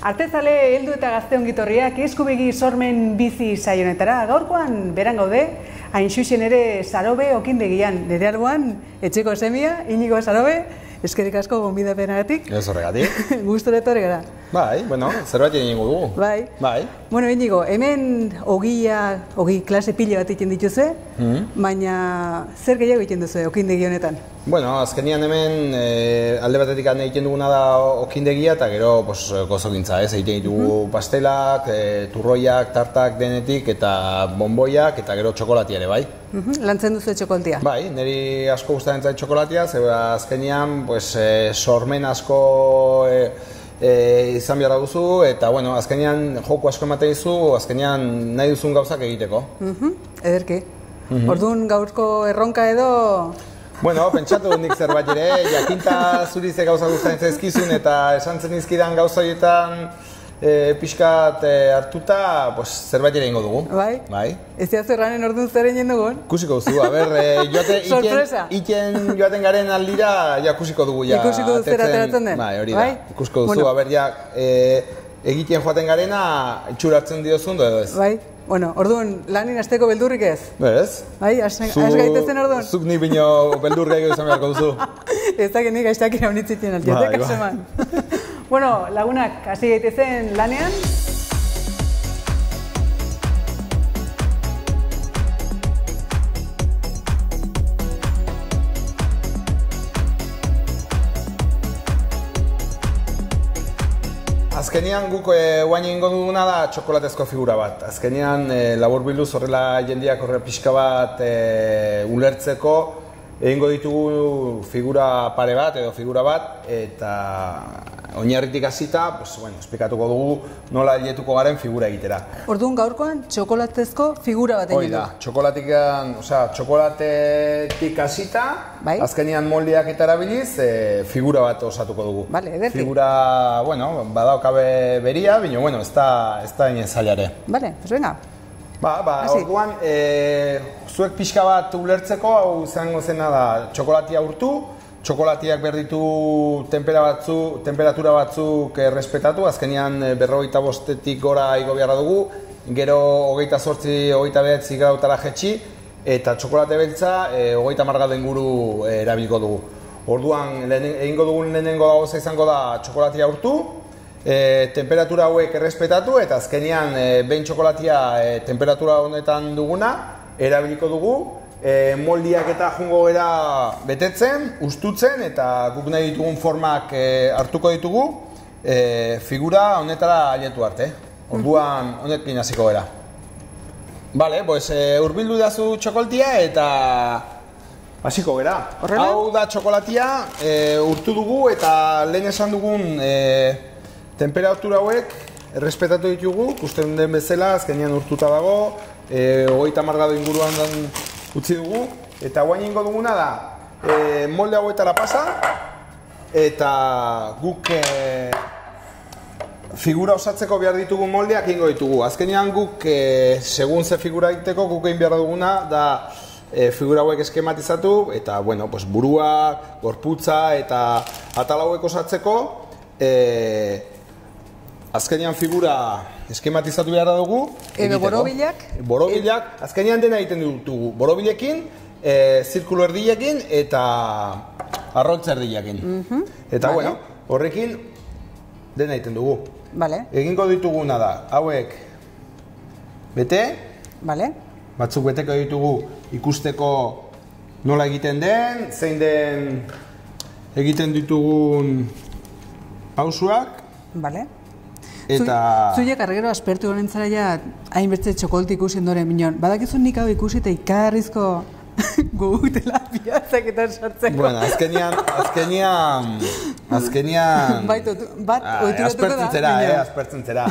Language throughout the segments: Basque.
Artezale heldu eta gazte ongitorriak Eskubegi sormen bizi saionetara. Gaurkoan beran gaude, hain xuxen ere Sarobe okindegian. Nire alboan, etxeko semia, Inigo Sarobe, eskerrik asko gonbidapenagatik. Ez horregatik. Gustora etorri gara. Bai, bueno, zerbait egingo dugu. Bai. Bai. Bueno, Inigo, hemen ogi klase pile bat egiten dituzue, baina zer gehiago egiten duzu okindegi honetan? Bueno, azkenian hemen alde batetik egiten duguna da okindegia eta gero gozokintza, ez? Egiten ditugu pastelak, turroiak, tartak denetik eta bonboiak eta gero txokolatia ere, bai. Lantzen duzu txokolatia? Bai, niri asko gustatzen zait txokolatia, zeba azkenian sormen asko izan behar duzu eta bueno, azkenian joko asko ematen dizu, azkenian nahi duzun gauzak egiteko. Ederki. Orduan gaurko erronka edo... Bueno, pentsatu nik zerbait ere, jakinta zuri ze gauza gustatzen zaizkizun eta esan zen izkidan gauza horietan pixkat hartuta, zerbait ere ingo dugu. Bai? Bai. Ez diazu erranen orduan zer egin dugun? Kusiko duzu, a ber, iten joaten garen aldira, ja kusiko dugu. Ikusiko duzu zer ateratzen den? Bai, hori da. Kusiko duzu, a ber, ja, egiten joaten garena, itxuratzen diozun edo ez. Bai. Bueno, orduan, lanin hasteko beldurrik ez? Ez. Bai, has gaitezen orduan? Zuk nik bino beldurrik izan beharko duzu. Ez da genik haiztak iraunitzitien altiatek, kaseman. Bueno, lagunak, hasi gaitezen lanean. Azkenean guk guain egingo duguna da txokolatezko figura bat. Azkenean laburbilduz horrela jendeak horrela pixka bat ulertzeko egingo ditugu figura pare bat edo figura bat eta oinarritik hasita, esplikatuko dugu nola hiletuko garen figura egitera. Orduan gaurkoan txokolatezko figura bat egin du. Hoi da, txokolatetik hasita, azkenean moldeak eta erabiliz, figura bat osatuko dugu. Bale, ederki. Figura, badaukabe beria, baina, ez da inen zailare. Bale, pues venga. Orduan, zuek pixka bat ulertzeko, hau izango zena da txokolatia urtu, txokolatiak behar ditu temperatura batzuk errespetatu, azkenean 45 gora igo beharra dugu, gero 28, 29 grautara jetxi, eta txokolate beltza 30 gradu inguru erabiliko dugu. Orduan, egingo dugun lehenengo gauza izango da txokolatia urtu, temperatura hauek errespetatu, eta azkenean behin txokolatia temperatura honetan duguna erabiliko dugu, moldiak eta jungo gara betetzen, ustutzen eta guk nahi ditugun formak hartuko ditugu figura honetara ailetu arte. Orduan honekin hasiko gara. Bale, urbildu dazu txokolatia eta hasiko gara. Hau da txokolatia, urtu dugu eta lehen esan dugun temperatura hauek errespetatu ditugu, ikusten den bezala, azkenean urtuta dago, 30 gradu inguruan utzi dugu, eta guain ingo duguna da molde hauetara pasa eta guk figura osatzeko behar ditugu moldeak ingo ditugu. Azkenean guk, segun ze figura egiteko, guk egin behar duguna da figura hauek eskematizatu eta burua, gorputza eta atal hauek osatzeko azkenean figura eskematizatu behar dugu. Edo borobilak? Borobilak, azkenean dena egiten ditugu. Borobilekin, zirkulo erdilekin eta arroltza erdilekin. Eta horrekin dena egiten dugu. Egingo dituguna da, hauek bete, batzuk beteko ditugu ikusteko nola egiten den, zein den egiten ditugun pausuak. Zuiek arregero aspertu honen zara ja hainbeste txokolti ikusi ondoren minon. Badakizun nik hau ikusi eta ikarrizko gugutela piatzak eta sartzeko. Bueno, azkenian... Aspertzen zera.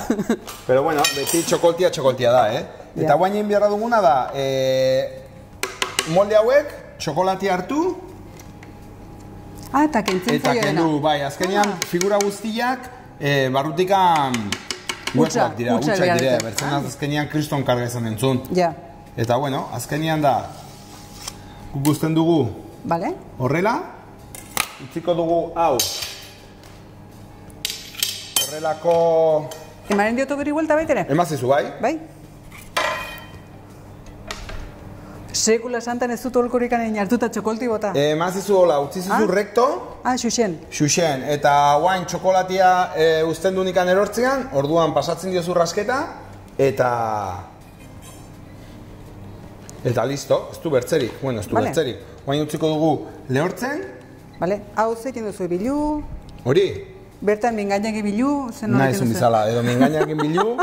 Pero bueno, beti txokoltia da, Eta guain beharra duguna da, molde hauek, txokolatia hartu, eta kentzen zaila dena. Bai, azkenean figura guztiak barrutikan utxak dira, bertzen azkenean kriston karga izan entzun. Eta, bueno, azkenian da, guk guztien dugu Bale? horrela, utziko dugu hau. Horrelako... Emaren diotu giri buelta baitere? Emazizu, bai? Bai? Sekula santan ez dut holkorik anein hartuta txokolti bota. Emazizu hola, utzizizu rekto. Xuxen. Xuxen, eta guain txokolatia uzten du nikan erortzean, orduan pasatzen diozu rasketa, eta listo, ez du bertzerik, bueno, ez du bertzerik. Guain utziko dugu lehortzen. Bale, hau zekin duzu bilu. Hori? Bertan mingainak bilu, zen hori Naizun bizala, edo mingainak bilu,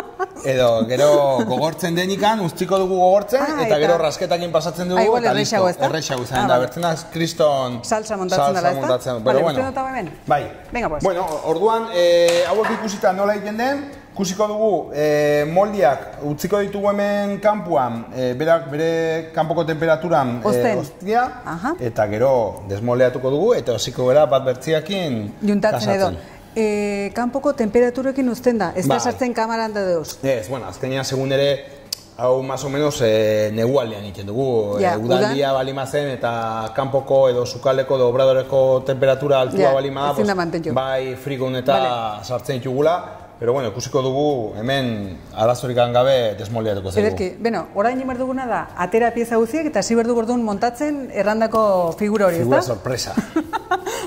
edo gero gogortzen denikan, utziko dugu gogortzen, eta gero rasketakin pasatzen dugu, eta listo, errexago izan da, bertzen da kriston salsa montatzen dela, ez da? Bale, uste dut hau hemen? Bai. Venga, pues. Bueno, orduan, hauek ikusita nola egiten den, ikusiko dugu moldiak utziko ditugu hemen kanpuan, bere kanpoko temperaturan ostia, eta gero desmoldeatuko dugu, eta osiko gara bat bertziakin juntatzen edo. Kanpoko temperaturekin uzten da, ez da sartzen kamaran da deuz. Ez, bueno, azkenean segun ere, hau más o menos negualdean egiten dugu. Udaldia balima zen eta kanpoko edo sukaldeko edo obradoreko temperatura altua balima da, bai frigun eta sartzen ditugula. Pero bueno, ikusiko dugu hemen arazorik gabe desmoldeatuko zaigu. Ederki, bueno, orain imar duguna da, atera pieza guziek eta ziberdu gordun montatzen errandako figura hori, ez da? Figura sorpresa.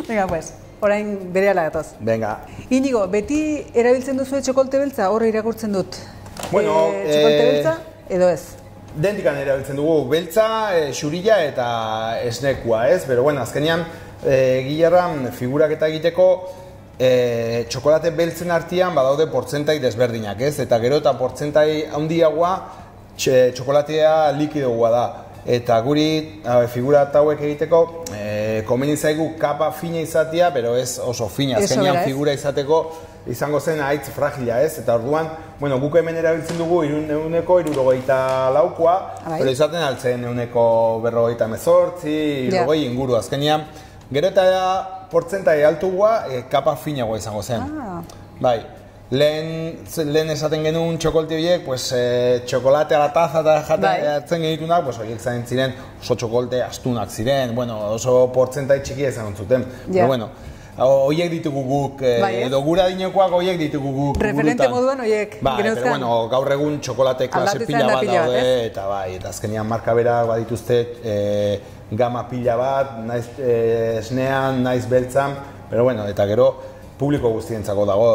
Venga, pues, orain bere ala gatoz. Venga. Inigo, beti erabiltzen duzu txokolte beltza, horre irakurtzen dut. Bueno, txokolte beltza, edo ez? Dentikan erabiltzen dugu, beltza, xurila eta esnekua, ez? Pero bueno, azkenean, gilarran figurak eta egiteko, txokolate beltzen artean badaude portzentai desberdinak, ez? Eta gero eta portzentai handiagoa txokolatea likidoa da. Eta guri figura hauek egiteko komeni zaigu kapa fina izatea, pero ez oso fina. Azkenean figura izateko izango zen haitz fragila, ez? Eta orduan, bueno, guk hemen erabiltzen dugu 124 pero izaten altzen 148, 60 inguru. Azkenean, gero eta portzentai altugoa, kapa finagoa izango zen. Bai, lehen esaten genuen txokolti horiek, txokolate ala taza eta jaten genitunak, horiek zain ziren oso txokolte astunak ziren, oso portzentai txiki ezan zuten. Pero bueno, horiek ditugu guk, edo gura dinekoak horiek ditugu guk. Referente moduan horiek. Bai, pero bueno, gaur egun txokolate klase pila bat daude, eta bai, eta azkenean marka berak badituzte gama pila bat, naiz esnean, naiz beltzan, pero bueno, eta gero publiko guztientzako dago,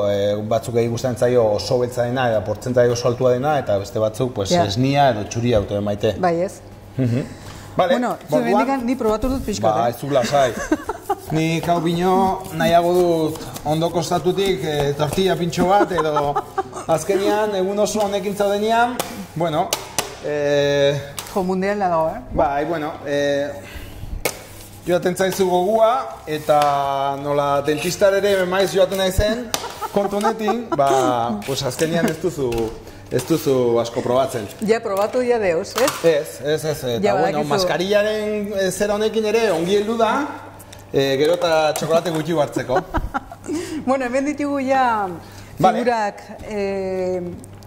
batzuk egin guztien zaio oso beltza dena, eta portzentai oso altua dena, eta beste batzuk esnia edo txuria auto maite. Bai ez. Bueno, zure bendikan ni probatu dut pixkat. Ba, ez du lasai. Ni hau bino nahiago dut ondo kostatutik tortilla pintxo bat, edo azkenean egun oso honekin zaudenean, bueno, jo, mundiala dago, Bai, bueno, joaten zaizu gogua, eta nola dentistar ere maiz joaten naizen, kontu honetin, azkenean ez duzu asko probatzen. Ja, probatu ja deus, ez? Ez, eta bueno, maskarillaren zera honekin ere ongi heldu da, gero eta txokolate gutxi hartzeko. Bueno, hemen ditugu ja figurak...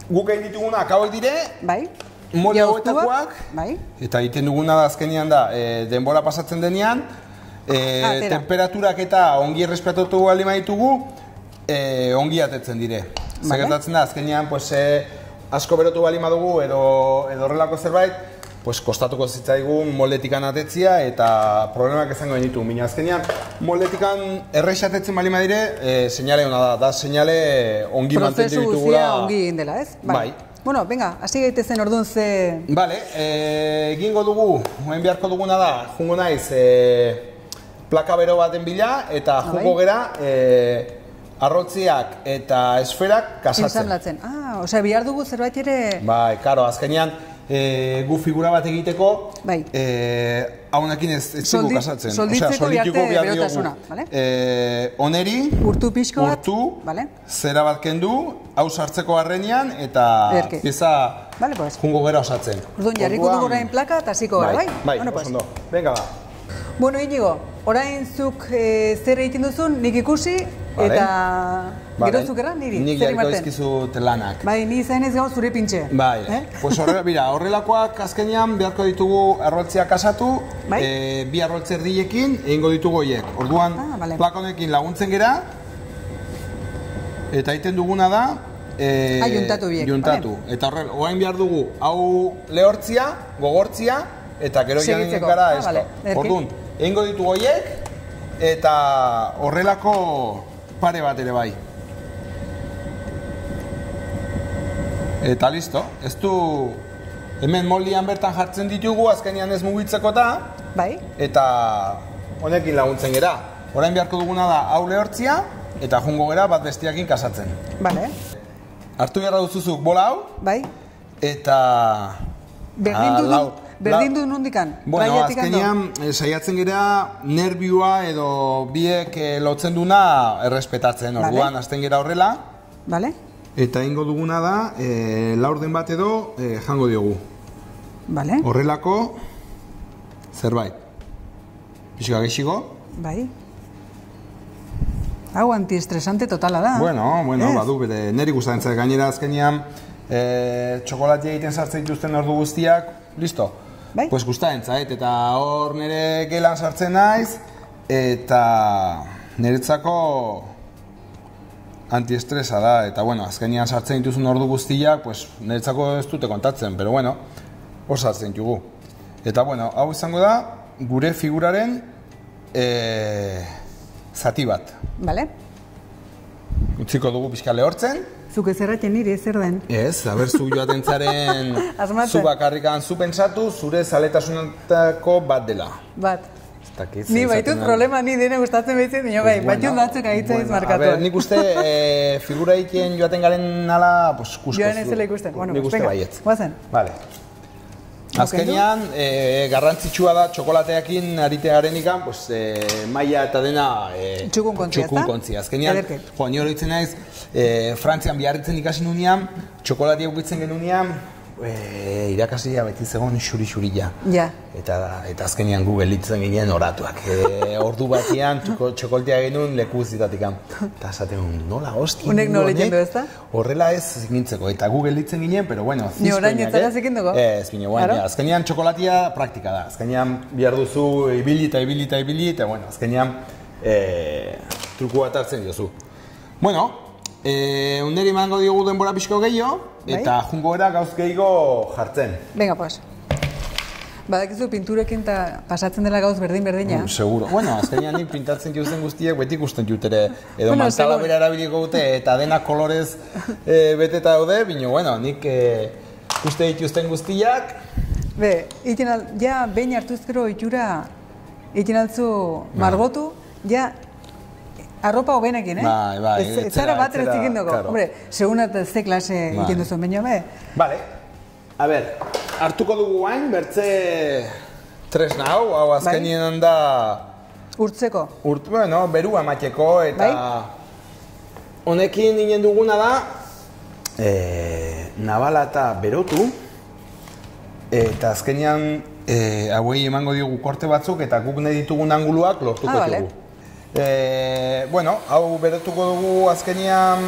Guk egin ditugunak hauek dire, bai. Molde hauetakoak, eta egiten duguna da azkenean da, denbora pasatzen denean, temperaturak eta ongi errespetatu alima ditugu, ongi atetzen dire. Zegertatzen da, azkenean, asko berotu balima dugu edo horrelako zerbait, kostatuko zitzaigun moldetikan atetzia eta problemak izango genitu. Baina azkenean, moldetikan errexatetzen balima dire, seinale hona da seinale ongi mantentu ditugula. Prozesu guztia ongi egin dela, ez? Bai. Bueno, venga, hasi gaitezen orduan ze... Bale, egingo dugu, hemen beharko duguna da, jungo naiz plaka bero baten bila, eta jungo gera arrotziak eta esferak kasatzen. Ensamblatzen. Osea, bihar dugu zerbait ere... Bai, karo, azkenean gu figura bat egiteko, haunekin ez dugu kasatzen. Solditzeko biharte berotasuna, bale? Oneri, urtu pixko bat, zera bat kendu, hau sartzeko arrenean, eta pieza jungo gera osatzen. Orduan, jarriko dugu orain plaka eta hasiko gara, bai? Bai, oso ondo. Venga, ba. Bueno, Inigo, orain zuk zer egiten duzun, nik ikusi, Eta gero zukera niri, nik zer jarriko imarten? dizkizut lanak. Bai, ni zainez gau zure pintxe. Bai, pues horrelakoak azkenean beharko ditugu arroltziak kasatu, bi arroltze erdiekin egingo ditugu horiek. Orduan, plakonekin laguntzen gera, eta egiten duguna da, juntatu biek. Juntatu. Eta orain behar dugu, hau lehortzia, gogortzia, eta gero janen gara esko. Orduan, egingo ditugu horiek, eta horrelako pare bat ere bai. Eta listo, ez du hemen moldian bertan jartzen ditugu, azkenean ez mugitzeko eta honekin laguntzen gera. Orain beharko duguna da hau lehortzia eta jungo gera bat bestiakin kasatzen. Hartu beharra duzuzuk bola hau, eta berdin du nondikan? Bueno, azkenean saiatzen gera nervioa edo biek lotzen duna errespetatzen. Orduan, azten gera horrela. Eta ingo duguna da, laurden bat edo jango diogu. Horrelako zerbait. Pixka gehiago. Hau antiestresante totala da. Bueno, badu bere, niri gustatzen zait gainera azkenean txokolatia egiten sartzen dituzten ordu guztiak, listo. Pues gustatzen zait, eta hor nire gelan sartzen naiz, eta niretzako antiestresa da, eta bueno, azkenean sartzen dituzun ordu guztiak, pues niretzako ez dute kontatzen, pero bueno, hor sartzen ditugu. Eta bueno, hau izango da, gure figuraren zati bat. Utziko dugu pixka lehortzen. Zuk ez erraten niri, zer den? Ez, haber, zu joaten zaren, zu bakarrikan zu pentsatu, zure zaletasunetako bat dela. Ni baitut problema, ni dene gustatzen behitzen, nio bai, baitut batzuk ahitzen izmarkatu. A ber, nik uste figura ikien joaten garen nala, pues, kusko. Joan ez dela ikusten. Nik uste baietz. Guazen. Vale. Azkenean, garrantzitsua da txokolateakin arite garenikan, pues, maila eta dena txukunkontzia. Azkenean, ni hori ditzen naiz, Frantzian biarritzen ikasi nunean, txokolatia ukitzen genunean, irakasia beti zegoen xuri-xurila. Eta azkenean Google ditzen ginen oratuak. Ordu batean txokolatea genuen leku zitatik. Eta esaten nola, hostia, unek nola egin du ez da? Horrela ez gintzeko. Eta Google ditzen ginen, pero bueno, ni orain ez zara zekin dugu? Ez, azkenean txokolatia praktika da. Azkenean bihar duzu ibili, eta bueno, azkenean truku bat hartzen diozu. Bueno, niri emango diogu denbora pixko gehiago, eta jungo era gauz gehiago jartzen. Venga, pues. Badakizu pinturekin pasatzen dela gauz berdin-berdina. Seguro. Bueno, azkenean nik pintatzen jutzen guztiek beti ikusten jutere. Edo mantala bera erabiliko dute eta denak kolorez beteta daude, bino, bueno, nik uste dituzten guztiak. Ja behin hartuzkero itxura egin altzu margotu, ja arropa hobenekin, Bai, ez zara bat errezikin dugu. Hombre, segun eta ze klase egin duzu, baina Vale, a ber, hartuko dugu hain, bertze tresna hau azkenien handa urtzeko? Bueno, berua mateko, eta honekin inen duguna da nabala eta berotu, eta azkenean hauei emango diogu korte batzuk, eta guk nahi ditugun anguluak lortuko dugu. Bueno, hau berotuko dugu azkenean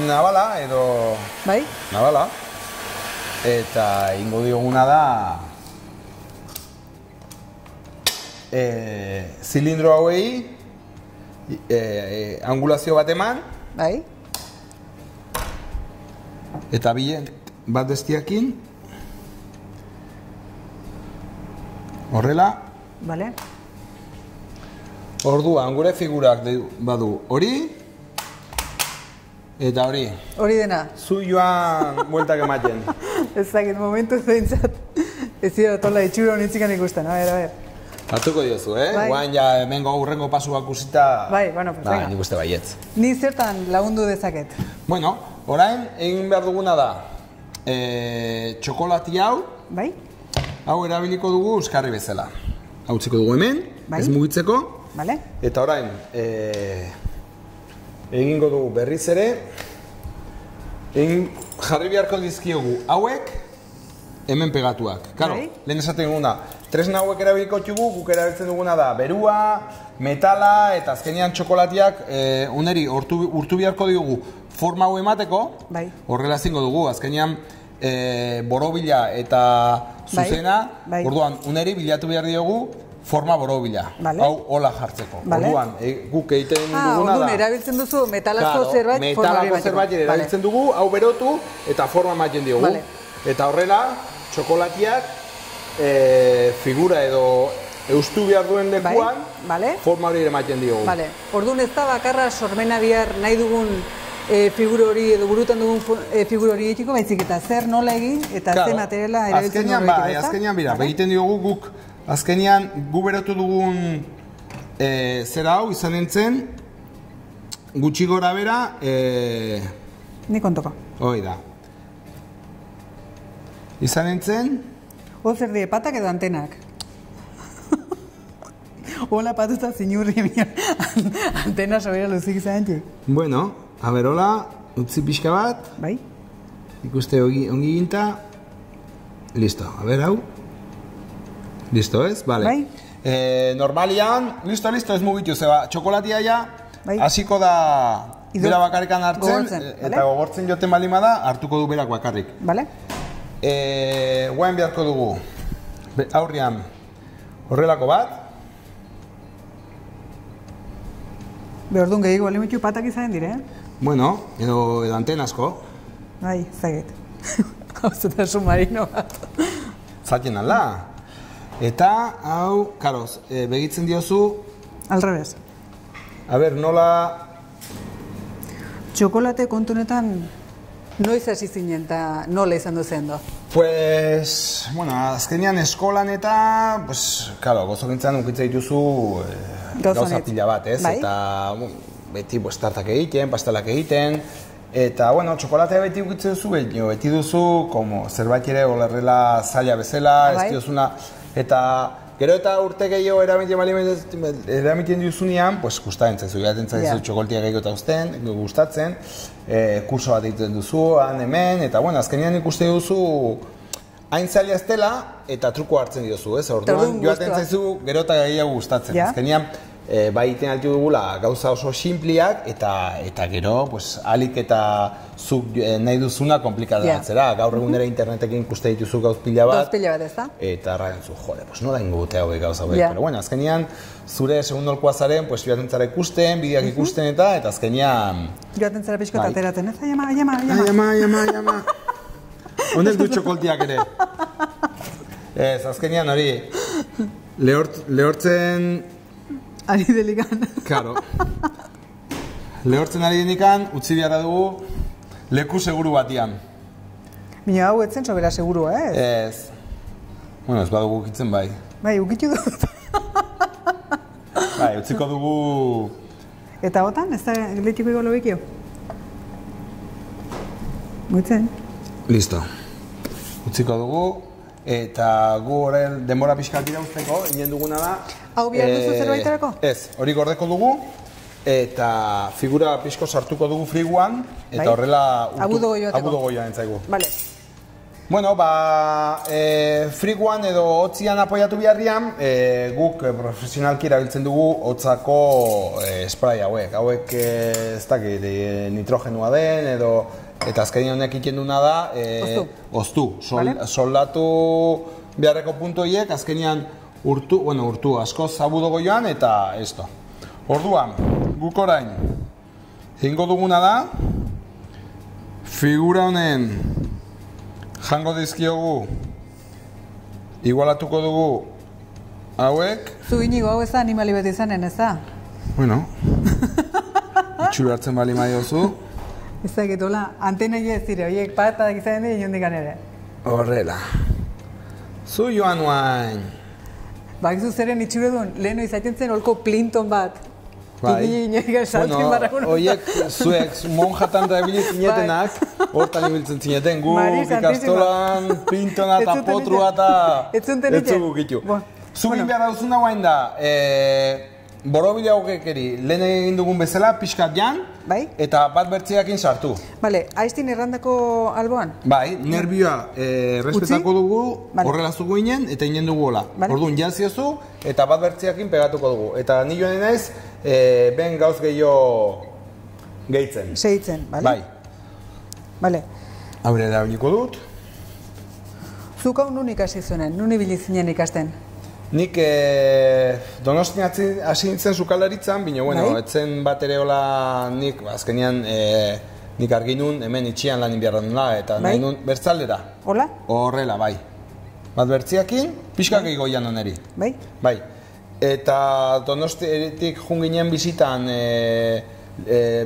nabala edo nabala, eta ingo dioguna da zilindro hauei angulazio bat eman, eta bat bestiakin horrela. Orduan, gure figurak badu hori eta hori. Hori dena. Zu joan bueltak ematen. Ez dakit, momentu zeintzat. Ez zira tola itxura honitzikan ikusten, a ver. Hartuko diozu, Guain ja hemengo aurrengo pasuak usita. Bueno, pues venga. Nik uste baietz. Ni zertan lagundu dezaket? Bueno, orain egin behar duguna da txokolati hau. Hau erabiliko dugu euskarri bezala. Hau utziko dugu hemen, ez mugitzeko. Eta orain, egingo dugu berriz ere, jarri beharko dizkiogu hauek, hemen pegatuak. Claro, Bai. lehen esaten duguna, tresna hauek erabiliko txugu, guk erabiltzen duguna da berua, metala eta azkenean txokolatiak uneri urtu beharko digugu forma hau emateko, Bai. horrela zingo dugu, azkenean borobila eta zuzena, Bai. orduan uneri bilatu behar diogu forma borobila, Vale. hau hola jartzeko. Vale. Orduan, guk egiten duguna orduan, da... erabiltzen duzu metalazko zerbait forma hori metalako emateko. zerbait erabiltzen dugu, hau berotu eta forma ematen diogu. Vale. Eta horrela, txokolatiak figura edo eustu behar duen lekuan, Vale. forma hori ematen diogu. Vale. Orduan ez da bakarra sormena bihar nahi dugun figura hori edo burutan dugun figura hori egiteko, baizik eta zer nola egin eta ze materiala erabiltzen dugu egiteko, ezta? Azkenean, bira, egiten diogu guk, azkenean gu berotu dugun zera hau izan nintzen, gutxi gora bera, Ni kontoko. hoi da. Izan nintzen, Zer die, patak edo antenak? Hola patuta zinurri mian antena sobera luzik izan txik. bueno, a ber, hola, utzi pixka bat, Bai? ikuste ongi ginta, listo, a ber, hau, listo ez, vale. Bai. Normalian, listo, ez mugitu, zeba, txokolatia ja, Bai. hasiko da bera bakarrikan hartzen, Gogortzen, eta bale? gogortzen joten balima da, hartuko du berak bakarrik. Bale? Guain beharko dugu, aurrian, horrelako bat, Orduan gehiago alimetxu patak izan dire, bueno, edo antenazko, Bai, zagit. Hau zeta submarino bat. zaten alda. Eta, hau, karoz, begitzen diozu, Al revés. a ber, nola, Txokolate kontunetan noiz hasi zinen eta nola izan duzen do? pues, bueno, azkenean eskolan eta, pues, karo, gozokintzan ukitza dituzu gauza pila bat, ez? Bai. Eta, beti, pues, tartak egiten, pastelak egiten, eta, bueno, txokolatea beti ukitzen duzu, beti duzu, como, zerbait ere olerrela zaila bezala, Bai. ez diozuna, eta, gero eta urte gehiago eramiten diuzunean, pues, gustatzen zaizu, gaten zaizu txokolatia gehiago eta gustatzen, kurso bat egiten duzu, han hemen, eta, bueno, azkenean ikuste duzu, hain zaila ez dela, eta truko hartzen diozu, ez? Orduan, joaten zaizu, gero eta gehiago gustatzen. Azkenean, bai iten altu dugula gauza oso simpliak, eta gero, pues, alik eta zuk nahi duzuna komplikadatzera. Gaur egunera internetekin ikuste dituzu gauz pila bat. Gauz pila bat, ez da? Eta erraten zu, jode, pues nola ingo dute hauek gauza hauek. Pero bueno, azkenean, zure segundolkoa zaren, pues, joaten zara ikusten, bideak ikusten eta azkenean... Joaten zara pixko ateratzen, ez? Llama. Honek du txokoltiak ere. Ez, azkenean hori, lehortzen... Ari delikan. Karo. Lehortzen ari denikan, utzi beharra dugu leku seguru batian. Bina hau etzen sobera segurua, ez? Ez. Bueno, ez badugu ukitzen bai. Bai, ukitu dut. Bai, utziko dugu... Eta gotan, ez da lehtiko ego lobekio? Guitzen? Listo. Utziko dugu, eta gu horren denbora pixkat irauzteko, inen duguna da... Hau bihar duzu zerbaiterako? Ez, hori gordeko dugu, eta figura pixko sartuko dugu friguan, eta horrela... Abudo goioateko. Abudo goioa entzaigu. Vale. Bueno, friguan edo hotzian apoiatu biharrian, guk profesionalki erabiltzen dugu hotzako spray hauek. Hauek ez dakit nitrogenua den edo... Eta azkenean honek egiten duna da, oztu. Soldatu beharreko puntu horiek, azkenean urtu askoz abudo goioan eta esto. Orduan, guk orain, egingo duguna da, figura honen jango dizkiogu, igualatuko dugu hauek. Zu inigo hau ez da animali bat izanen, ez da? Bueno, itxura hartzen bali maiozu. Ez da, getola, antena ez dire, horiek patak izan dira inondikan ere. Horrela. Zu joan nuain. Bakizu zeren itxure duen, leheno izaten zen holko plinton bat. Bai. Bueno, horiek zuek monjatan da ebilit zinetenak, hortan ibiltzen zineten, gu ikastolan, plintona eta potrua eta etzugu gitu. Zugin behar dauzuna guain da, borobila hogekeri, lehen egin dugun bezala, pixkat jan, Bai? eta bat bertziakin sartu. Bale, aiztin errandako alboan? Bai, nervioa respetako dugu, Vale. horrela zugu inen, eta inen dugu hola. Vale. Orduan, jantziozu, eta bat bertziakin pegatuko dugu. Eta ni joan naiz, ben gauz gehiago gehitzen. Segitzen, bale? Bai. Bale. Haure erabiliko dut. Zuk hau nun ikasi zuenen, nun ibili zinen ikasten? Nik Donostian hasi nintzen sukaldaritzan, baina, bueno, Bai. etzen bat ere hola nik, azkenean, nik argi nun, hemen itxian lan inbiarra nula, eta Bai. nahi nun bertzaldera. Hola? Horrela, bai. Bat bertziakin, pixka gehiago jan oneri. Bai? Bai. Eta Donostiatik jun ginen bizitan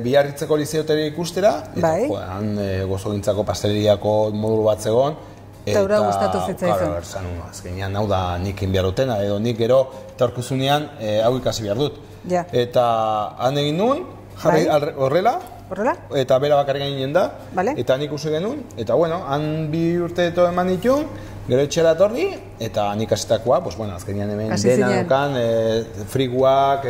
Biarritzeko lizeoteri ikustera, eta Bai. han gozogintzako pasteleriako modulu bat zegoen. Eta hura gustatu zitzaizun. Claro, esan, azkenean hau da nik egin behar dutena, edo nik gero etorkizunean hau ikasi behar dut. Ja. Eta han egin nuen, jarri Bai. horrela, Horrela? eta bera bakarrik ginen da, Vale. eta nik uste genuen, eta bueno, han 2 urte eto eman ditun, gero etxera etorri, eta nik hasitakoa, pues bueno, azkenean hemen Hasi dena zinen. dukan, friguak,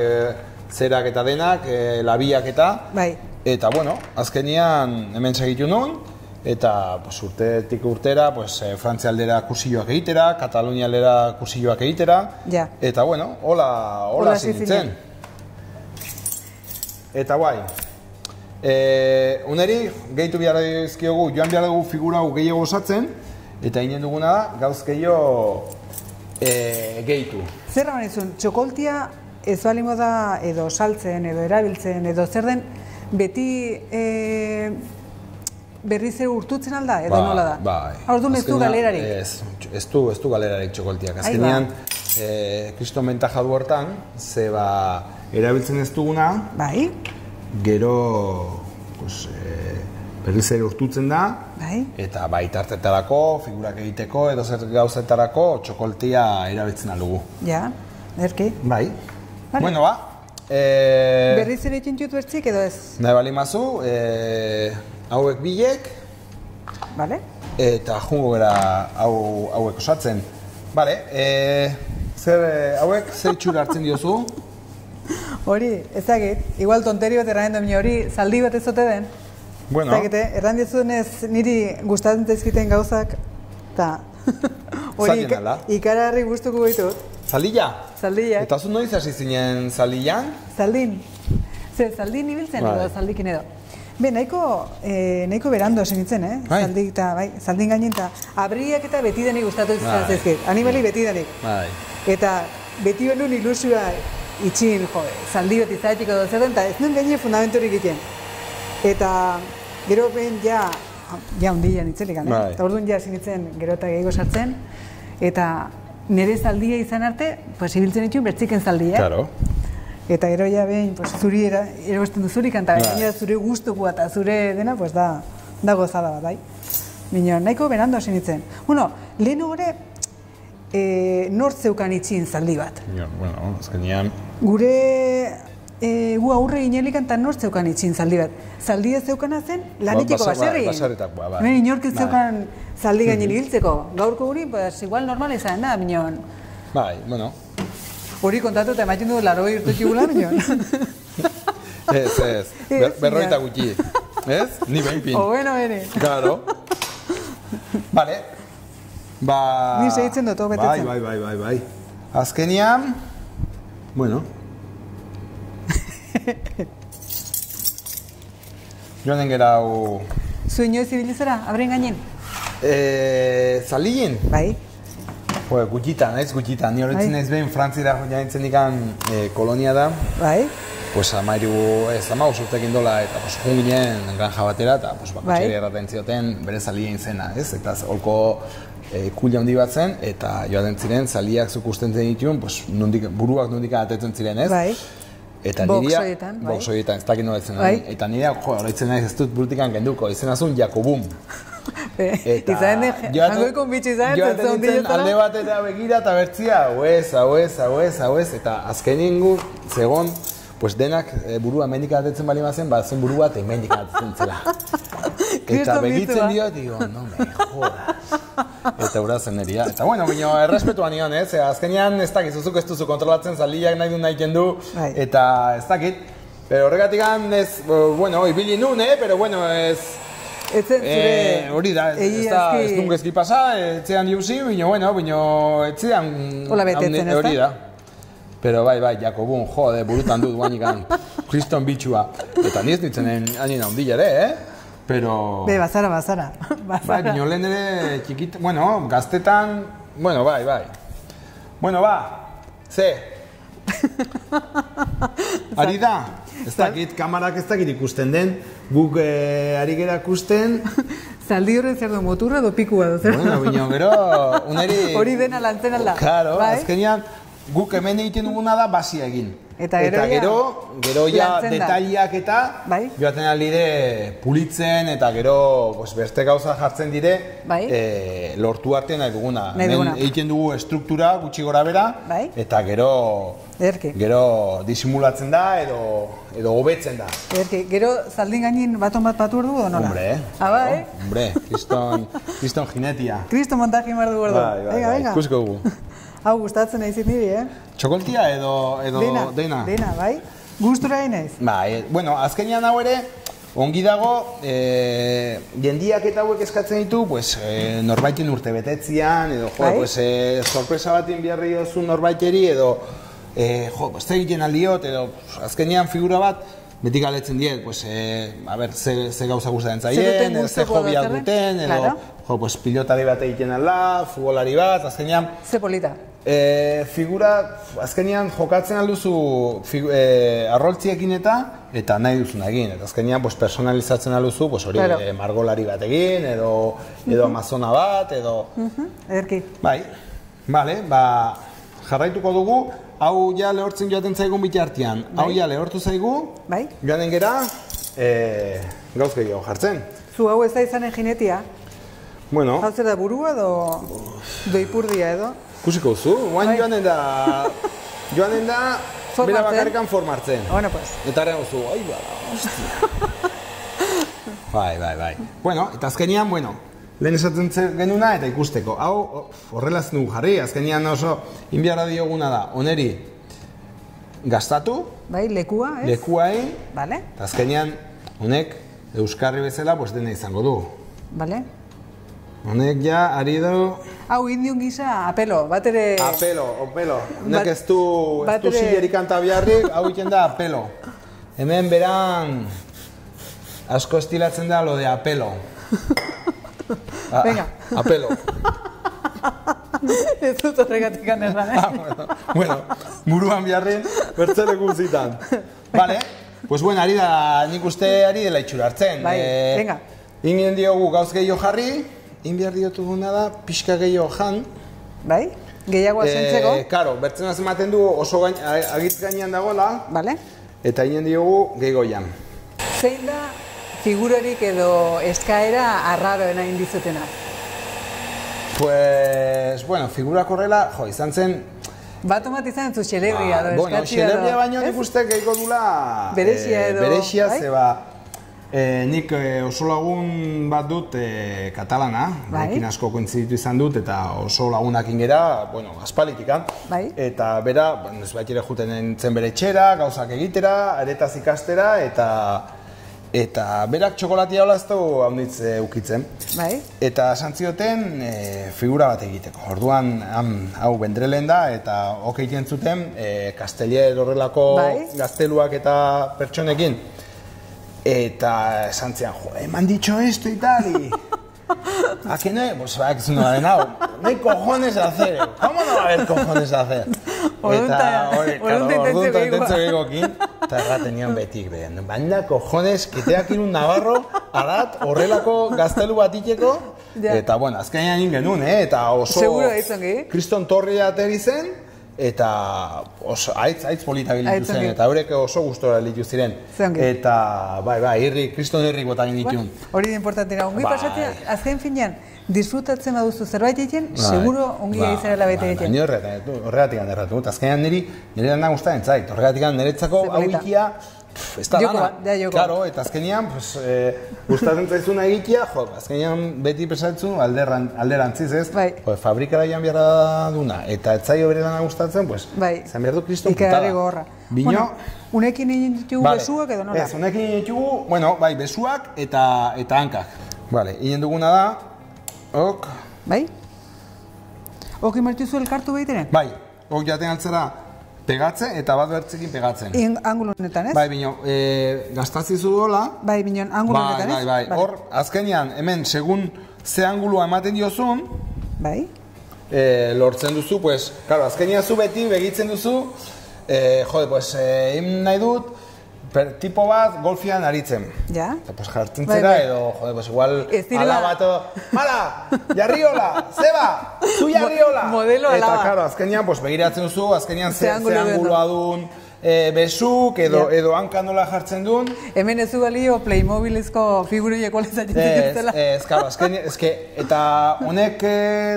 zerak eta denak, labiak eta, Bai. eta bueno, azkenean hemen segitu nuen, eta pues, urtetik urtera, pues, Frantzia aldera kursioak egitera, Katalunia aldera kursioak egitera, Ja. eta bueno, hola hasi hasi nintzen. zinen. Eta guai, uneri gehitu behar dizkiogu, joan behar dugu figura hau gehiago osatzen, eta inen duguna da, gauz gehiago gehitu. Zer raman izun, txokoltia ez balimo da edo saltzen, edo erabiltzen, edo zer den, beti berriz ere urtutzen alda, edo nola da? Bai. Orduan ez du Azkenean, galerarik? Ez du galerarik txokoltiak. Ahí Azkenean, kriston bentaja du hortan, ze erabiltzen ez duguna, Bai? gero pues, berriz ere urtutzen da, Bai? eta bai tartetarako, figurak egiteko, edo zer gauzetarako txokoltia erabiltzen aldugu. Ja, erki. Bai. Vale. Bueno, ba. Berriz ere txintxut bertzik edo ez? Nahi bali mazu, hauek bilek, Bale? eta jungo gara hauek osatzen. Bale, hauek zer itxura hartzen diozu? Hori, ezagit, igual tonteri bat erranen duen hori, zaldi bat ez ote den. Bueno. Ezagite, erran dizunez niri gustatzen zaizkiten gauzak, eta hori Zaldien ala? ikaragarri gustuko ditut. Zaldilla? Zaldiak. Eta zu noiz hasi zinen zaldillan? Zaldin. Zaldin ibiltzen Bai. edo zaldikin edo. Nahiko berando hasi nintzen, Bai. Zaldin gainen eta abriak eta betidanik gustatu Bai. zaizkit. Animali betidanik. Bai. Eta beti benun ilusioa itxin, zaldi bat izatik edo zer den, eta ez nuen gaine fundamenturik egiten. Eta gero ben ja hundian itzelik, Bai. eta orduan ja hasi nintzen gero eta gehiago sartzen, eta nire zaldia izan arte, pues ibiltzen dituen bertziken zaldia. Claro. Eta gero ja behin, pues, zuri erosten du zuri kanta, Bai. gainera zure gustukoa eta zure dena, pues da gozada bat, bai. Baina nahiko berando hasi nintzen. Bueno, lehen gore, nort zeukan itxin zaldi bat. Ja, bueno, azkenean. Gure gu aurre ginelikan eta nort zeukan itxin zaldi bat. Zaldi ez zeukana zen lanitiko baserri. Baserritakoa, bai. Hemen inork ez Bai. zeukan zaldi gainen ibiltzeko. Gaurko guri, pues, igual normal izan da, minon. Bai, bueno. Hori kontatu eta ematen du 80 urte txigula, minon. Ez. Berroita gutxi. Ez? Ni behinpin. O bueno, bene. Claro. Vale. Ba... Ni segitzen dut, betetzen. Bai. Azkenean... Bueno. Joanen gera hau... Zu inoiz ibilizera, abren gainen? Zalien? Bai. Jo, gutxitan, Ni horretzen Bai. naiz behin Frantzira jaintzen ikan kolonia da. Bai. Pues amairu urtekin dola, eta pues, jun ginen granja batera, eta pues, bakotxeri erraten zioten bere zalien zena, ez? Eta holko kulia handi bat zen, eta joaten ziren, zaliak zuk usten zen dituen, pues, buruak nondik atetzen ziren, ez? Bai. Eta Boxoietan, bai. Boxoietan, ez dakit nola zen. Bai. Eta nirea, horretzen naiz ez dut burutikan genduko, izena zuen Jakobum. Izan jangoiko bitxi izan, joaten nintzen alde bat eta begira eta bertzia, hau ez, eta azkenin gu, zegon, pues denak burua hemendik atetzen bali mazen, zen buru bat hemendik atetzen zela. Eta begitzen dio, digo, no me jodas. Eta urazen eria. Eta bueno, bino, errespetuan nion, ez? Azkenean ez dakit, zuzuk ez duzu kontrolatzen, zaliak nahi du nahi kendu, eta ez dakit. Pero horregatik ez, bueno, ibili nun, pero bueno, ez... Hori da, ez duen gezki pasa, etzean diuzi, bino, etzean... Ola betetzen, ez da? Hori da. Pero bai, Jakobun, jode, burutan dut guanikan, kriston bitxua. Eta niz nintzen anien handila ere, Pero... Bazara. Bai, bino lehen ere txikit, bueno, gaztetan, bueno, bai. Bueno, ze? Ari da? Ez dakit, kamarak ez dakit ikusten den, guk ari gera ikusten... Zaldi horren zer du, moturra edo pikua du, zer? Bueno, bino, gero, uneri... Hori dena lantzen alda. Claro, azkenean, guk hemen egiten duguna da basia egin. Eta gero ja detaliak eta joaten alire pulitzen eta gero beste gauza jartzen dire lortu arte nahi duguna. Hemen egiten dugu estruktura gutxi gora bera eta gero disimulatzen da edo hobetzen da. Gero zaldin gainin baton bat patu ordu edo nola? Hombre, kriston jinetia. Kriston montaji mardu ordu. Venga, ikusko dugu. Hau gustatzen nahi niri, Txokoltia edo dena? Dena, bai. Gustura naiz? Bai, bueno, azkenean hau ere, ongi dago, jendiak eta hauek eskatzen ditu, norbaiten urte betetzian, edo, sorpresa batin biharri dozu norbaiteri, edo, ez egiten aldiot, edo, azkenean figura bat, beti galetzen diet, ze gauza gustatzen zaien, ze hobia duten, edo, pilotari bat egiten alda, futbolari bat, azkenean... Ze polita? Figura, azkenean jokatzen alduzu arroltziekin eta nahi duzun egin. Eta azkenean personalizatzen alduzu, hori margolari bat egin, edo amazona bat, edo... Ederki. Bai, jarraituko dugu, hau ja lehortzen joaten zaigun bitartean. Hau ja lehortu zaigu, joanen gera, gauz gehiago jartzen. Zu hau ez da izanen jinetia? Bueno... Hau zer da burua edo doipurdia edo? Kusiko zu, guain joanen da, bera bakarrikan formartzen. Bueno, pues. Eta arren zu, hostia. Bai. Bueno, eta azkenian, lehen esaten genuna eta ikusteko. Hau, horrelaz nugu jarri, azkenian oso inbiarra dioguna da, oneri gastatu. Bai, lekua, ez? Lekua egin. Bale. Eta azkenian, honek, euskarri bezala, dena izango du. Bale. Honek ja, ari du... Hau, indion gisa, apelo, bat ere... Apelo. Honek ez du zilerik antabiarrik, hau iten da apelo. Hemen beran asko estilatzen da lo de apelo. Venga. Apelo. Ez dut horregatik anerran, Bueno, buruan biharren, bertzele guztitan. Vale, ari da, nik uste ari dela itxurartzen. Bai, venga. Ingen diogu gauz gehiago jarri, inbiar diotu guna da, pixka gehiago jan. Bai, gehiago asentzeko. Karo, bertzen azematen du oso agitz gainean dagoela. Bale. Eta ingen diogu gehiago jan. Zein da figurarik edo eskaera arraroena indizutena? Figurak horrela, izan zen... Bat omat izan zu xelebria edo eskatzi edo... Xelebria baino nik uste gehiago dula... Berexia edo... Berexia, zeba... Nik oso lagun bat dut katalana, ekin asko kointziditu izan dut, eta oso lagunak ingera, aspalitikan. Eta bera, ez bait ere juten nintzen bere etxera, gauzak egitera, aretaz ikastera, eta berak txokolatia olaztu haunditz ukitzen. Eta santzioten figura bat egiteko. Orduan, hau bendrelen da, eta okeiten zuten Kastelier horrelako gazteluak eta pertsonekin. Eta esan zian, eman ditxo esto y tal, y... ¿A que no? Pues va, que es una de nao. No hay cojones a hacer, ¿cómo no va a haber cojones a hacer? Orduan intentzio gehiagokin. Eta erraten nion betik, banda cojones, kiteak irun Navarro, adat, horrelako gaztelu bat iteko. Eta, azkenean ingen eta oso... Kriston Torri ateri zen, eta haitz polita gilitu zen, eta horrek oso gustora gilitu ziren. Eta, kriston herrik botan ditun. Hori da importantena. Ongi pasatzea, azken finean, disfrutatzen baduzu zerbait egiten, seguro ongi izanela bete egiten. Horregatik handerratu. Azkenean nire lana gustatzen zait. Horregatik niretzako hau ikia ez da Joko lana. bat, da joko. Claro, eta azkenean, gustatzen zaizuna egitea, azkenean beti pesatzen alderantziz, ez? Bai. Fabrikara joan beharra duna, eta ez zaio bere dana gustatzen, bai. zan behar du kriston Ikarri putada. gogorra. Bino, Bueno, unekin egin ditugu besuak edo nola? Ez, unekin ditugu, bueno, bai, besuak eta hankak. Vale, egin duguna da, ok, Bai? Oki martuzu elkartu behiteren? bai, ok jaten altzera pegatzen eta bat bertzekin pegatzen. Angulo honetan, ez? Bai, bino, gastazizu dola. Bai, bineon, angulo honetan, ez? Bai. Hor, azkenean, hemen, segun ze angulua ematen diozun, Bai? lortzen duzu, pues, claro, azkenean zu beti begitzen duzu, jode, pues, egin nahi dut, tipo bat golfian aritzen. Ja? Eta, pues, jartzen Bai, zera, bai. edo, jode, pues, igual, Ez direla- alabato, mala, jarriola, zeba, zu jarriola. Modelo alaba. Eta, claro, azkenean, pues, begiratzen duzu, azkenean Ze ze angulo duen angulua dun, besuk, edo hanka nola jartzen dun. Hemen ez du balio Playmobilezko figuroieko lezatzen dituztela. Ez, claro, azkenean, eta honek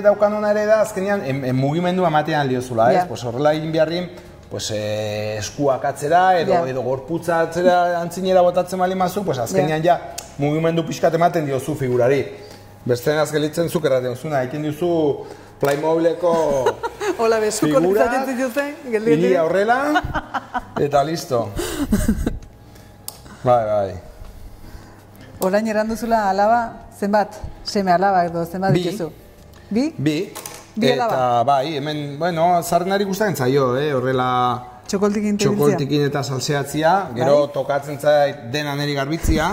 daukan ere da, azkenean, mugimendua ematean liozula, ez? Ja. Pues horrela egin beharrin, pues, eskuak atzera, edo gorputza atzera antzinera botatzen bali mazu, pues, azkenean ja, mugimendu pixkat ematen diozu figurari. Bestean azgelitzen zuk erraten zuna, egin diozu Playmobileko Hola, besuko figura, lezatzen dituzten, iria horrela, eta listo. Bai. Orain erranduzula alaba, zenbat? Seme alaba edo zenbat Bi. dituzu? Bi? Bi, Bi eta alaba. bai, hemen, bueno, zarrenari gustatzen zaio, horrela Txokoltikin tebiltzea? txokoltikin eta salseatzia, gero tokatzen zait dena neri garbitzia,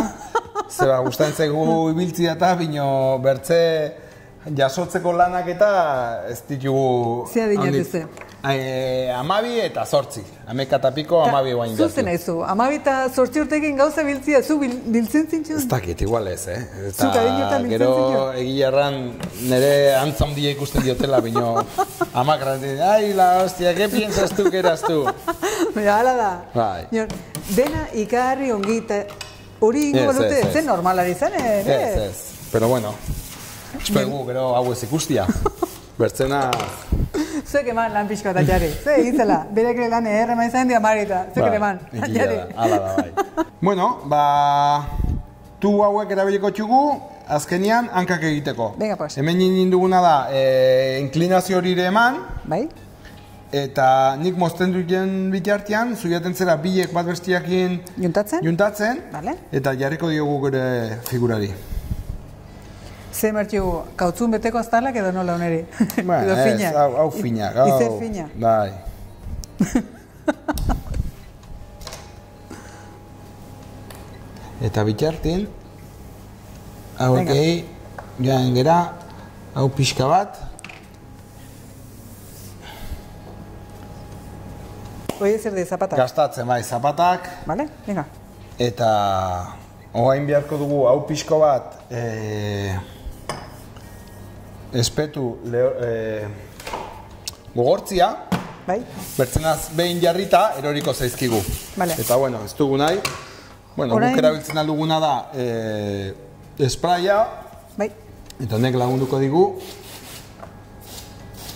zeba gustatzen zaigu ibiltzia eta bino bertze jasotzeko lanak eta ez ditugu... Ze adina duzu? 12 eta 8, 11 eta piko 12 guain jatu. Zuzen aizu, 12 eta 8 urtekin gauza biltzia, zu biltzen zintxun? Ez dakit, igual ez, Zuk adinotan biltzen gero zintxun? egia erran nire antza handia ikusten diotela, bino amak erraten, ai, la hostia, ¿qué piensas tú que eras tú? Baina, hala da. Bai. Dena ikarri ongi eta hori ingo balute, zen normalari zen, Ez, pero bueno, espegu, gero hau ez ikustia. Bertzena... Zuek eman lan pixko eta jarri. Ze egizela, berek ere lan errema izan dia marita. Zuek ere eman, jarri. Hala da, bai. Bueno, tu hauek erabiliko txugu, azkenian hankak egiteko. Venga, pues. Hemen nindin duguna da, inklinazio hori ere eman, Bai? eta nik mozten duten bitartean, zuiaten zera bilek bat bestiakin Juntatzen? Vale. eta jarriko diogu gure figurari. Ze martxu, kautzun beteko aztalak edo nola oneri? Bueno, Edo fina? ez, hau fina. Izer fina? Bai. Eta bitartin, hau ekei, joan gera, hau pixka bat. Oie zer de, zapatak? Gastatzen, bai, zapatak. Vale, venga. Eta orain beharko dugu hau pixko bat espetu gogortzia, Bai? bertzenaz behin jarrita eroriko zaizkigu. Vale. Eta bueno, ez dugu nahi. Bueno, Orain- guk erabiltzen alduguna da espraia, Bai? eta honek lagunduko digu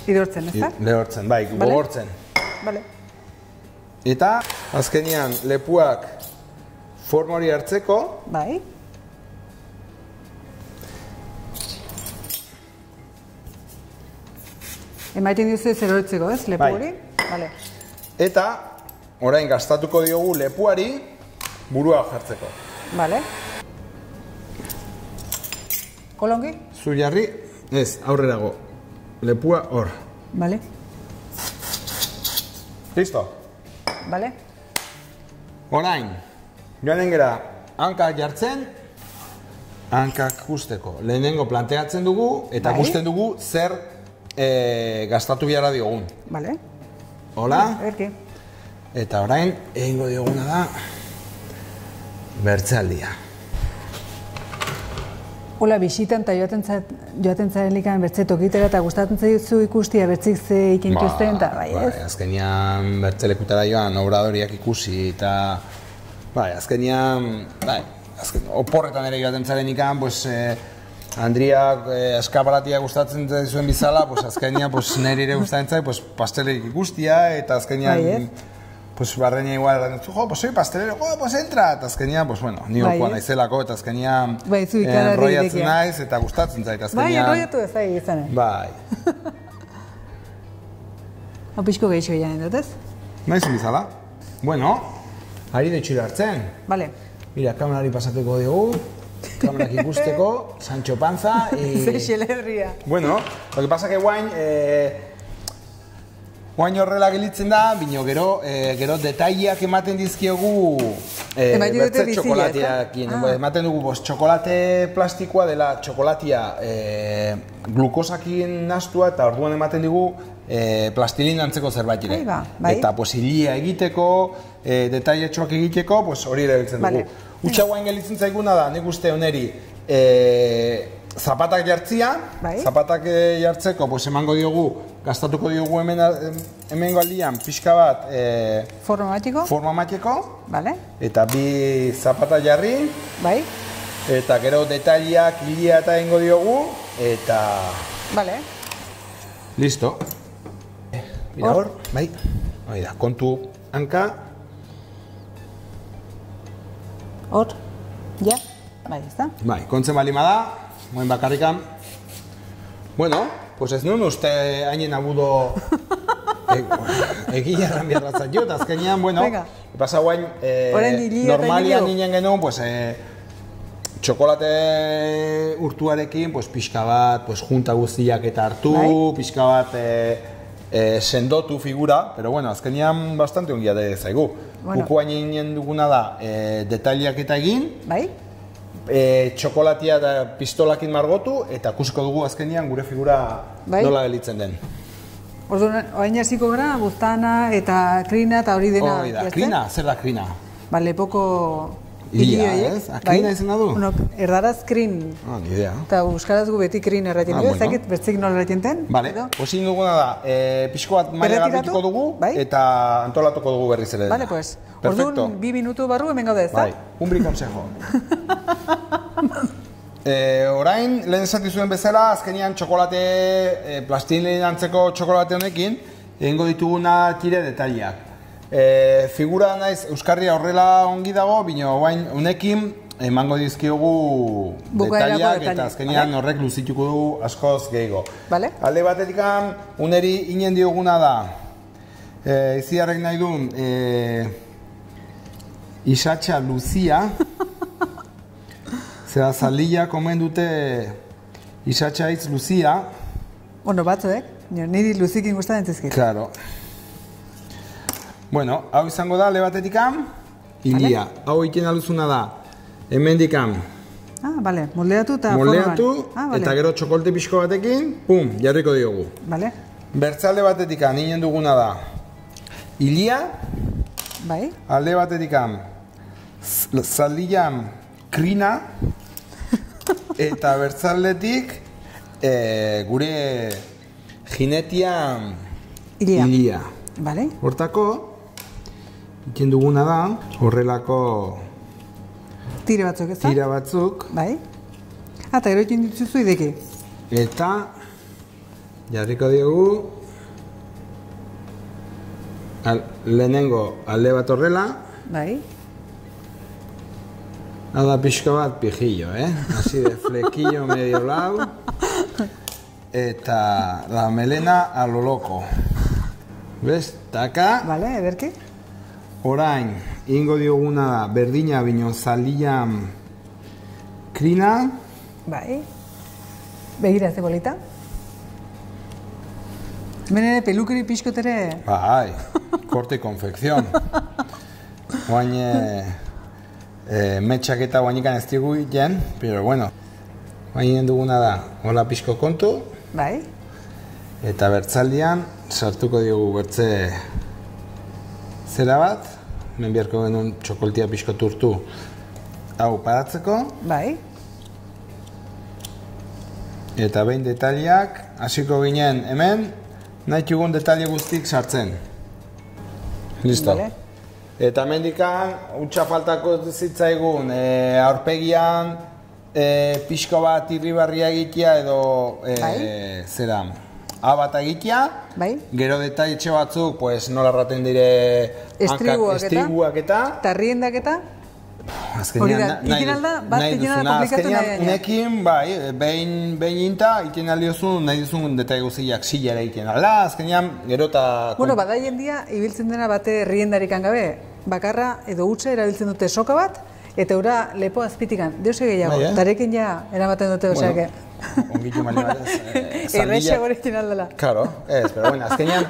Idortzen, ez da? lehortzen, bai, Vale. gogortzen. Vale. Eta azkenean lepuak forma hori hartzeko, Bai? Emaiten diozu ez erortzeko, ez? Lepo Bai. hori? Vale. eta orain gastatuko diogu lepuari burua jartzeko. Vale. Kolongi? Zu jarri, ez, aurrerago. Lepua hor. Vale. Listo? Vale. Orain, joanen gera, hankak jartzen, hankak guzteko. Lehenengo planteatzen dugu, eta Bai. gusten dugu zer gastatu biara diogun. Vale. Hola? Erki. Eta orain, egingo dioguna da, bertzealdia. Hola, bisitan eta joaten zarelikan bertze tokitera eta gustatzen zaizu ikustia bertzik ze ikintuzten, eta bai, ez? Azkenean bertzelekutara joan, obradoriak ikusi, eta azkenean, oporretan ere joaten zaren ikan, pues, Andriak eskaparatia gustatzen zuen bizala, pues, azkenean nire ere gustatzen zait, pues, pastelik ikustia, eta azkenean Bai, pues barreña igual erran dut, jo, pues soy pastelero, jo, pues entra, eta azkenian, pues bueno, ni okuan naizelako, eta azkenian enroiatzen naiz, eta gustatzen zait, azkenian. Bai, enroiatu ez da izanen. Bai. Hau pixko gehiago janen dut ez? Naizun bizala. Bueno, ari detxura hartzen. Vale. Mira, kamerari pasatuko dugu, kamerak ikusteko, Sancho Panza, Ze xelerria. Bueno, lo que pasa que guain horrela gelitzen da, bino gero detaileak ematen dizkiogu bertze txokolateakin. Ematen dugu, txokolate plastikoa dela txokolatia glukosakin nastua, eta orduan ematen digu plastilina antzeko zerbait ere. Eta hilia egiteko, detailetxoak egiteko, hori ere biltzen dugu. Utsa guain gelitzen zaiguna da, nik uste honeri zapatak jartzia, zapatak jartzeko emango diogu, gastatuko diogu hemengo aldian pixka bat forma mateko, eta bi zapata jarri, eta gero detaileak hilia eta egingo diogu, eta... Listo. Mira hor, bai, kontu hanka. Hor, ja, bai, ez da? Bai, kontzen balima da, moen bakarrikan. Bueno, pues ez nuen uste hainen abudo egia erran biarratzat jut, azkenean, bueno, pasa guain, normalian ninen genuen, pues, txokolate urtuarekin, pues, pixka bat, pues, junta guztiak eta hartu, pixka bat sendotu figura, pero bueno, azkenean bastante ongia de zaigu. Buku hain duguna da detaileak eta egin, txokolatia eta pistolakin margotu, eta kusiko dugu azkenean gure figura nola gelitzen den. Orduan, oain hasiko gara, buztana eta krina eta hori dena. Hori da, krina, zer da krina? Lepoko Ilia, ez? Krina izan da du? Erdaraz krin. Ni idea. Eta euskaraz gu beti krin erratien du, ezakit bertzik nola erratien ten. Bale, osin duguna da, pixko bat maila garbituko dugu, eta antolatuko dugu berriz ere. Bale, pues. Orduan, 2 minutu barru hemen gaude, ez da? Bai, un brikonsejo. Orain, lehen esati zuen bezala, azkenean txokolate, plastilin antzeko txokolate honekin, egingo dituguna tire detaileak. Figura naiz, Euskarria horrela ongi dago, bino guain unekin emango dizkiogu detaileak eta azkenean horrek luzituko dugu askoz gehiago. Alde batetik uneri inen dioguna da, iziarrek nahi duen, isatxa luzia, zera zaldia komen dute isatxa hitz luzia. Bueno, batzuek, niri luzikin gustatzen zizkit. Claro. Bueno, hau izango da, lebatetikan, hilia. Hau egiten aluzuna da, hemendikan. Bale, moldeatu eta forman. Moldeatu, eta gero txokolte pixko batekin, pum, jarriko diogu. Bale. Bertzalde batetikan, ninen duguna da, hilia. Bai. Alde batetikan, zaldian krina. Eta bertzaldetik, gure jinetian hilia. Bale. Hortako, iken duguna da, horrelako tira batzuk, ez da? Tira batzuk. Bai. Eta gero iken dituzu ideki. Eta jarriko diogu lehenengo alde bat horrela. Bai. Hau da pixko bat pijillo, así de flequillo medio lau. Eta la melena a lo loco. ¿Ves? Taka. Vale, ederki. Orain, ingo dioguna da, berdina bino zalian krina. Bai. Begira ze bolita. Hemen ere pelukeri pixkot ere. Bai, korte konfekzion. Oain, metxak eta oainikan ez digu iten, pero bueno. Oain duguna da, hola pixko kontu. Bai. Eta bertzaldian, sartuko diogu bertze zera bat. Hemen biharko genuen txokoltia pixko turtu hau paratzeko. Bai. Eta behin detaileak, hasiko ginen hemen, nahi dugun detaile guztik sartzen. Listo. Vale. Eta hemendikan, utxa faltako zitzaigun, aurpegian pixko bat irribarria egitea edo zera, abata egitea, gero detailetxe batzuk, pues, nola erraten dire estribuak eta tarriendak eta azkenean nahi duzuna, unekin, behin inta, iten aldiozu, nahi duzun detaile guziak silera iten alda, azkenean, gero eta... Bueno, bada jendia, ibiltzen dena bate riendarik gabe, bakarra edo utxe erabiltzen dute soka bat, eta ura lepo azpitikan, deuse gehiago, tarekin ja eramaten dute oseake. Ongitu mali bat ez. Errexia gorekin aldela. Claro, ez, pero bueno, azkenean,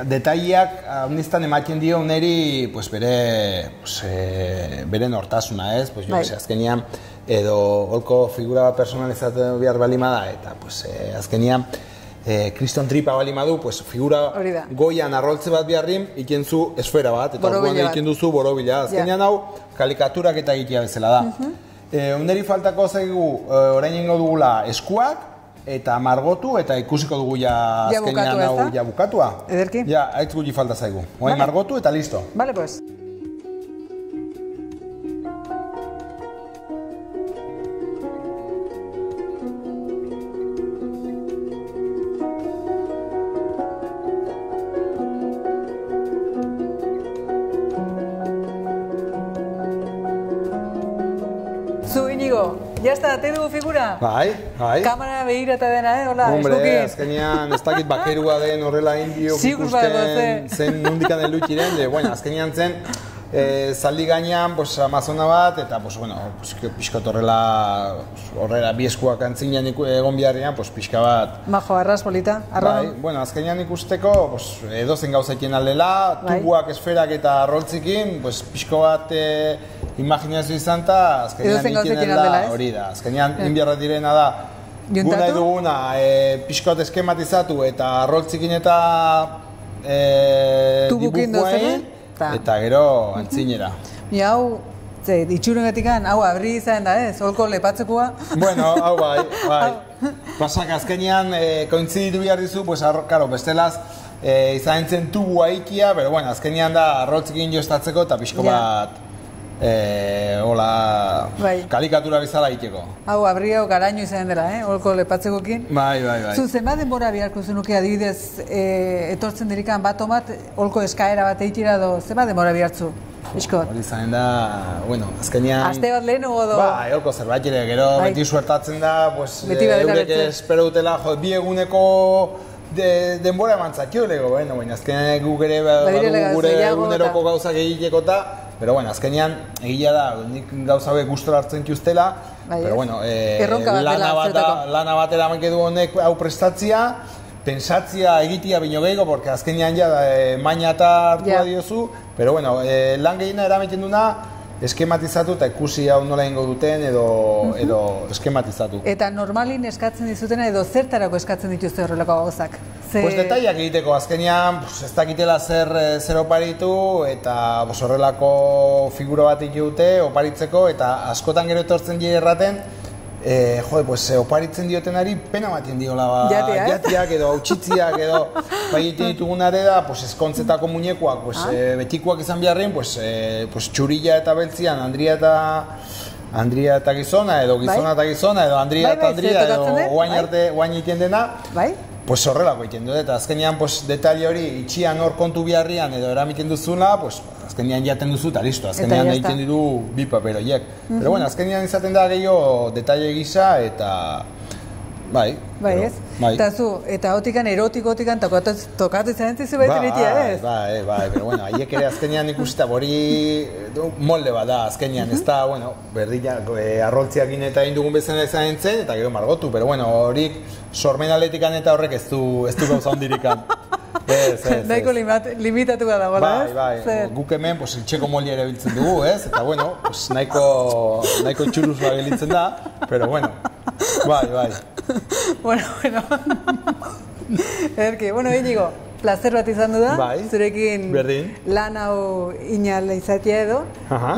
detaileak niztan ematen dio neri bere nortasuna, ez? Pues, azkenean, edo holko figura personalizatu behar balima da, eta azkenean, kriston tripa balima du, figura goian arroltze bat beharrin, ikenzu esfera bat, eta orduan egiten duzu borobila. Azkenean hau, kalikaturak eta egitea bezala da. Neri faltako zaigu, orain ingo dugula eskuak, eta margotu, eta ikusiko dugu azkenean hau bukatua. Ederki? Haitz guli falta zaigu. Orain margotu eta listo. Vale, pues. Zu, Inigo, jazta, te dugu figura? Bai. Kamara behirata dena, hola, eskukin. Hombre, azkenean, ez dakit bakerua den horrela indio ikusten zen nundikan elutxiren, azkenean zen, zaldi gainean, Amazona bat, eta, pixkot horrela bi eskuak antzinean egon biharrean, pixka bat... Majo, arras polita, arrono? Bai, azkenean ikusteko, edozen gauzaikien aldela, tubuak, esferak eta roltzikin, pixko bat imaginazio izan eta azkenean ikinen da hori da. Azkenean inbiarra direna da, gu nahi duguna pixkot eskematizatu eta roltzikin eta dibujoen, eta gero antzinera. Hau, itxurengatik hau abri izan da ez, holko lepatzekoa? Bueno, hau bai. Pasak azkenean kointziditu behar dizu, bestelaz izan zen tubua ikia, pero azkenean da roltzikin joztatzeko eta pixko bat kalikatura bizala iteko. Hau, abri hau garaino izan dela, holko lepatzekoekin. Bai. Zu, zenbat denbora beharko zenuke adibidez etortzen dirikan bat omat, holko eskaera bat eitira edo, zenbat denbora behartzu? Iskot? Hori zanen da, azkenean... Aste bat lehen ogo do? Bai, holko zerbait ere, gero beti suertatzen da, eurek espero dutela, bi eguneko denbora emantzakio lego, azkenean guk ere gure eguneroko gauzak egiteko eta pero azkenean egia da, nik gauza hauek gustora hartzen kiuztela, pero lana bat eramanke du honek hau prestatzia, pensatzia egitia bino gehiago, porque azkenean maina eta hartua diozu, pero lan gehiena eramaiten duna, eskematizatu eta ikusi hau nola ingo duten edo eskematizatu. Eta normalin eskatzen dizutena edo zertarako eskatzen dituzte horrelako gauzak? Detaiak egiteko, azkenean ez dakitela zer oparitu eta horrelako figura bat ikute oparitzeko eta askotan gero etortzen die erraten oparitzen diotenari pena batien diola jatiak edo hautsitziak edo egiten ditugunare da eskontzetako muñekoak betikoak izan beharren txurilla eta beltzian Andria eta gizona edo gizona eta gizona edo Andria eta Andria edo guain iten dena horrelako egiten dut, eta azkenean detaile hori itxian hor kontu biharrian edo eramiten duzuna, azkenean jaten duzu eta listo, azkenean egiten ditu bi paperoiek. Pero azkenean izaten da gehiago detaile gisa eta bai. Ez? Eta zu, eta hotikan erotikotikan tokatzen zentzizu baita iritia, ez? Bai, pero haiek ere azkenean ikusita hori molde bat da azkenean, ez da, berdina arroltziak eta indugun bezala izan zen, eta gero margotu, pero horik sormenaletikan eta horrek ez du gauza ondirikan. Naiko limitatu da dagoela, ez? Bai, guk hemen iltxeko moldia ere biltzen dugu, ez? Eta nahiko txuruzua gelitzen da, pero bai. Bueno. Ederki, Inigo, placer bat izan du da, zurekin lan hau inal izatea edo,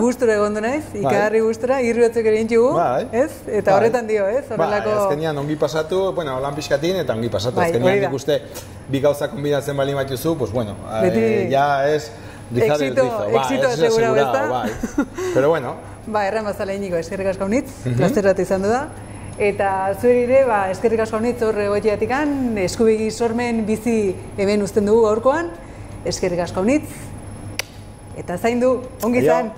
gustura egon du naiz, ikagarri gustura, irriotzek ere intxugu, ez? Eta horretan dio, ez? Azkenean ongi pasatu, lan pixkatin eta ongi pasatu, azkenean nik uste bi gauza kombinatzen bali matiuzu, ja ez rizar el rizo, éxito asegurado, pero erran bazala Inigo, eskerrik asko nitz, placer bat izan du da, Eta zueri ere, eskerrik asko honitz hor egoiteatikan, eskubegi sormen bizi hemen uzten dugu gaurkoan, eskerrik asko honitz, eta zaindu, ongi izan!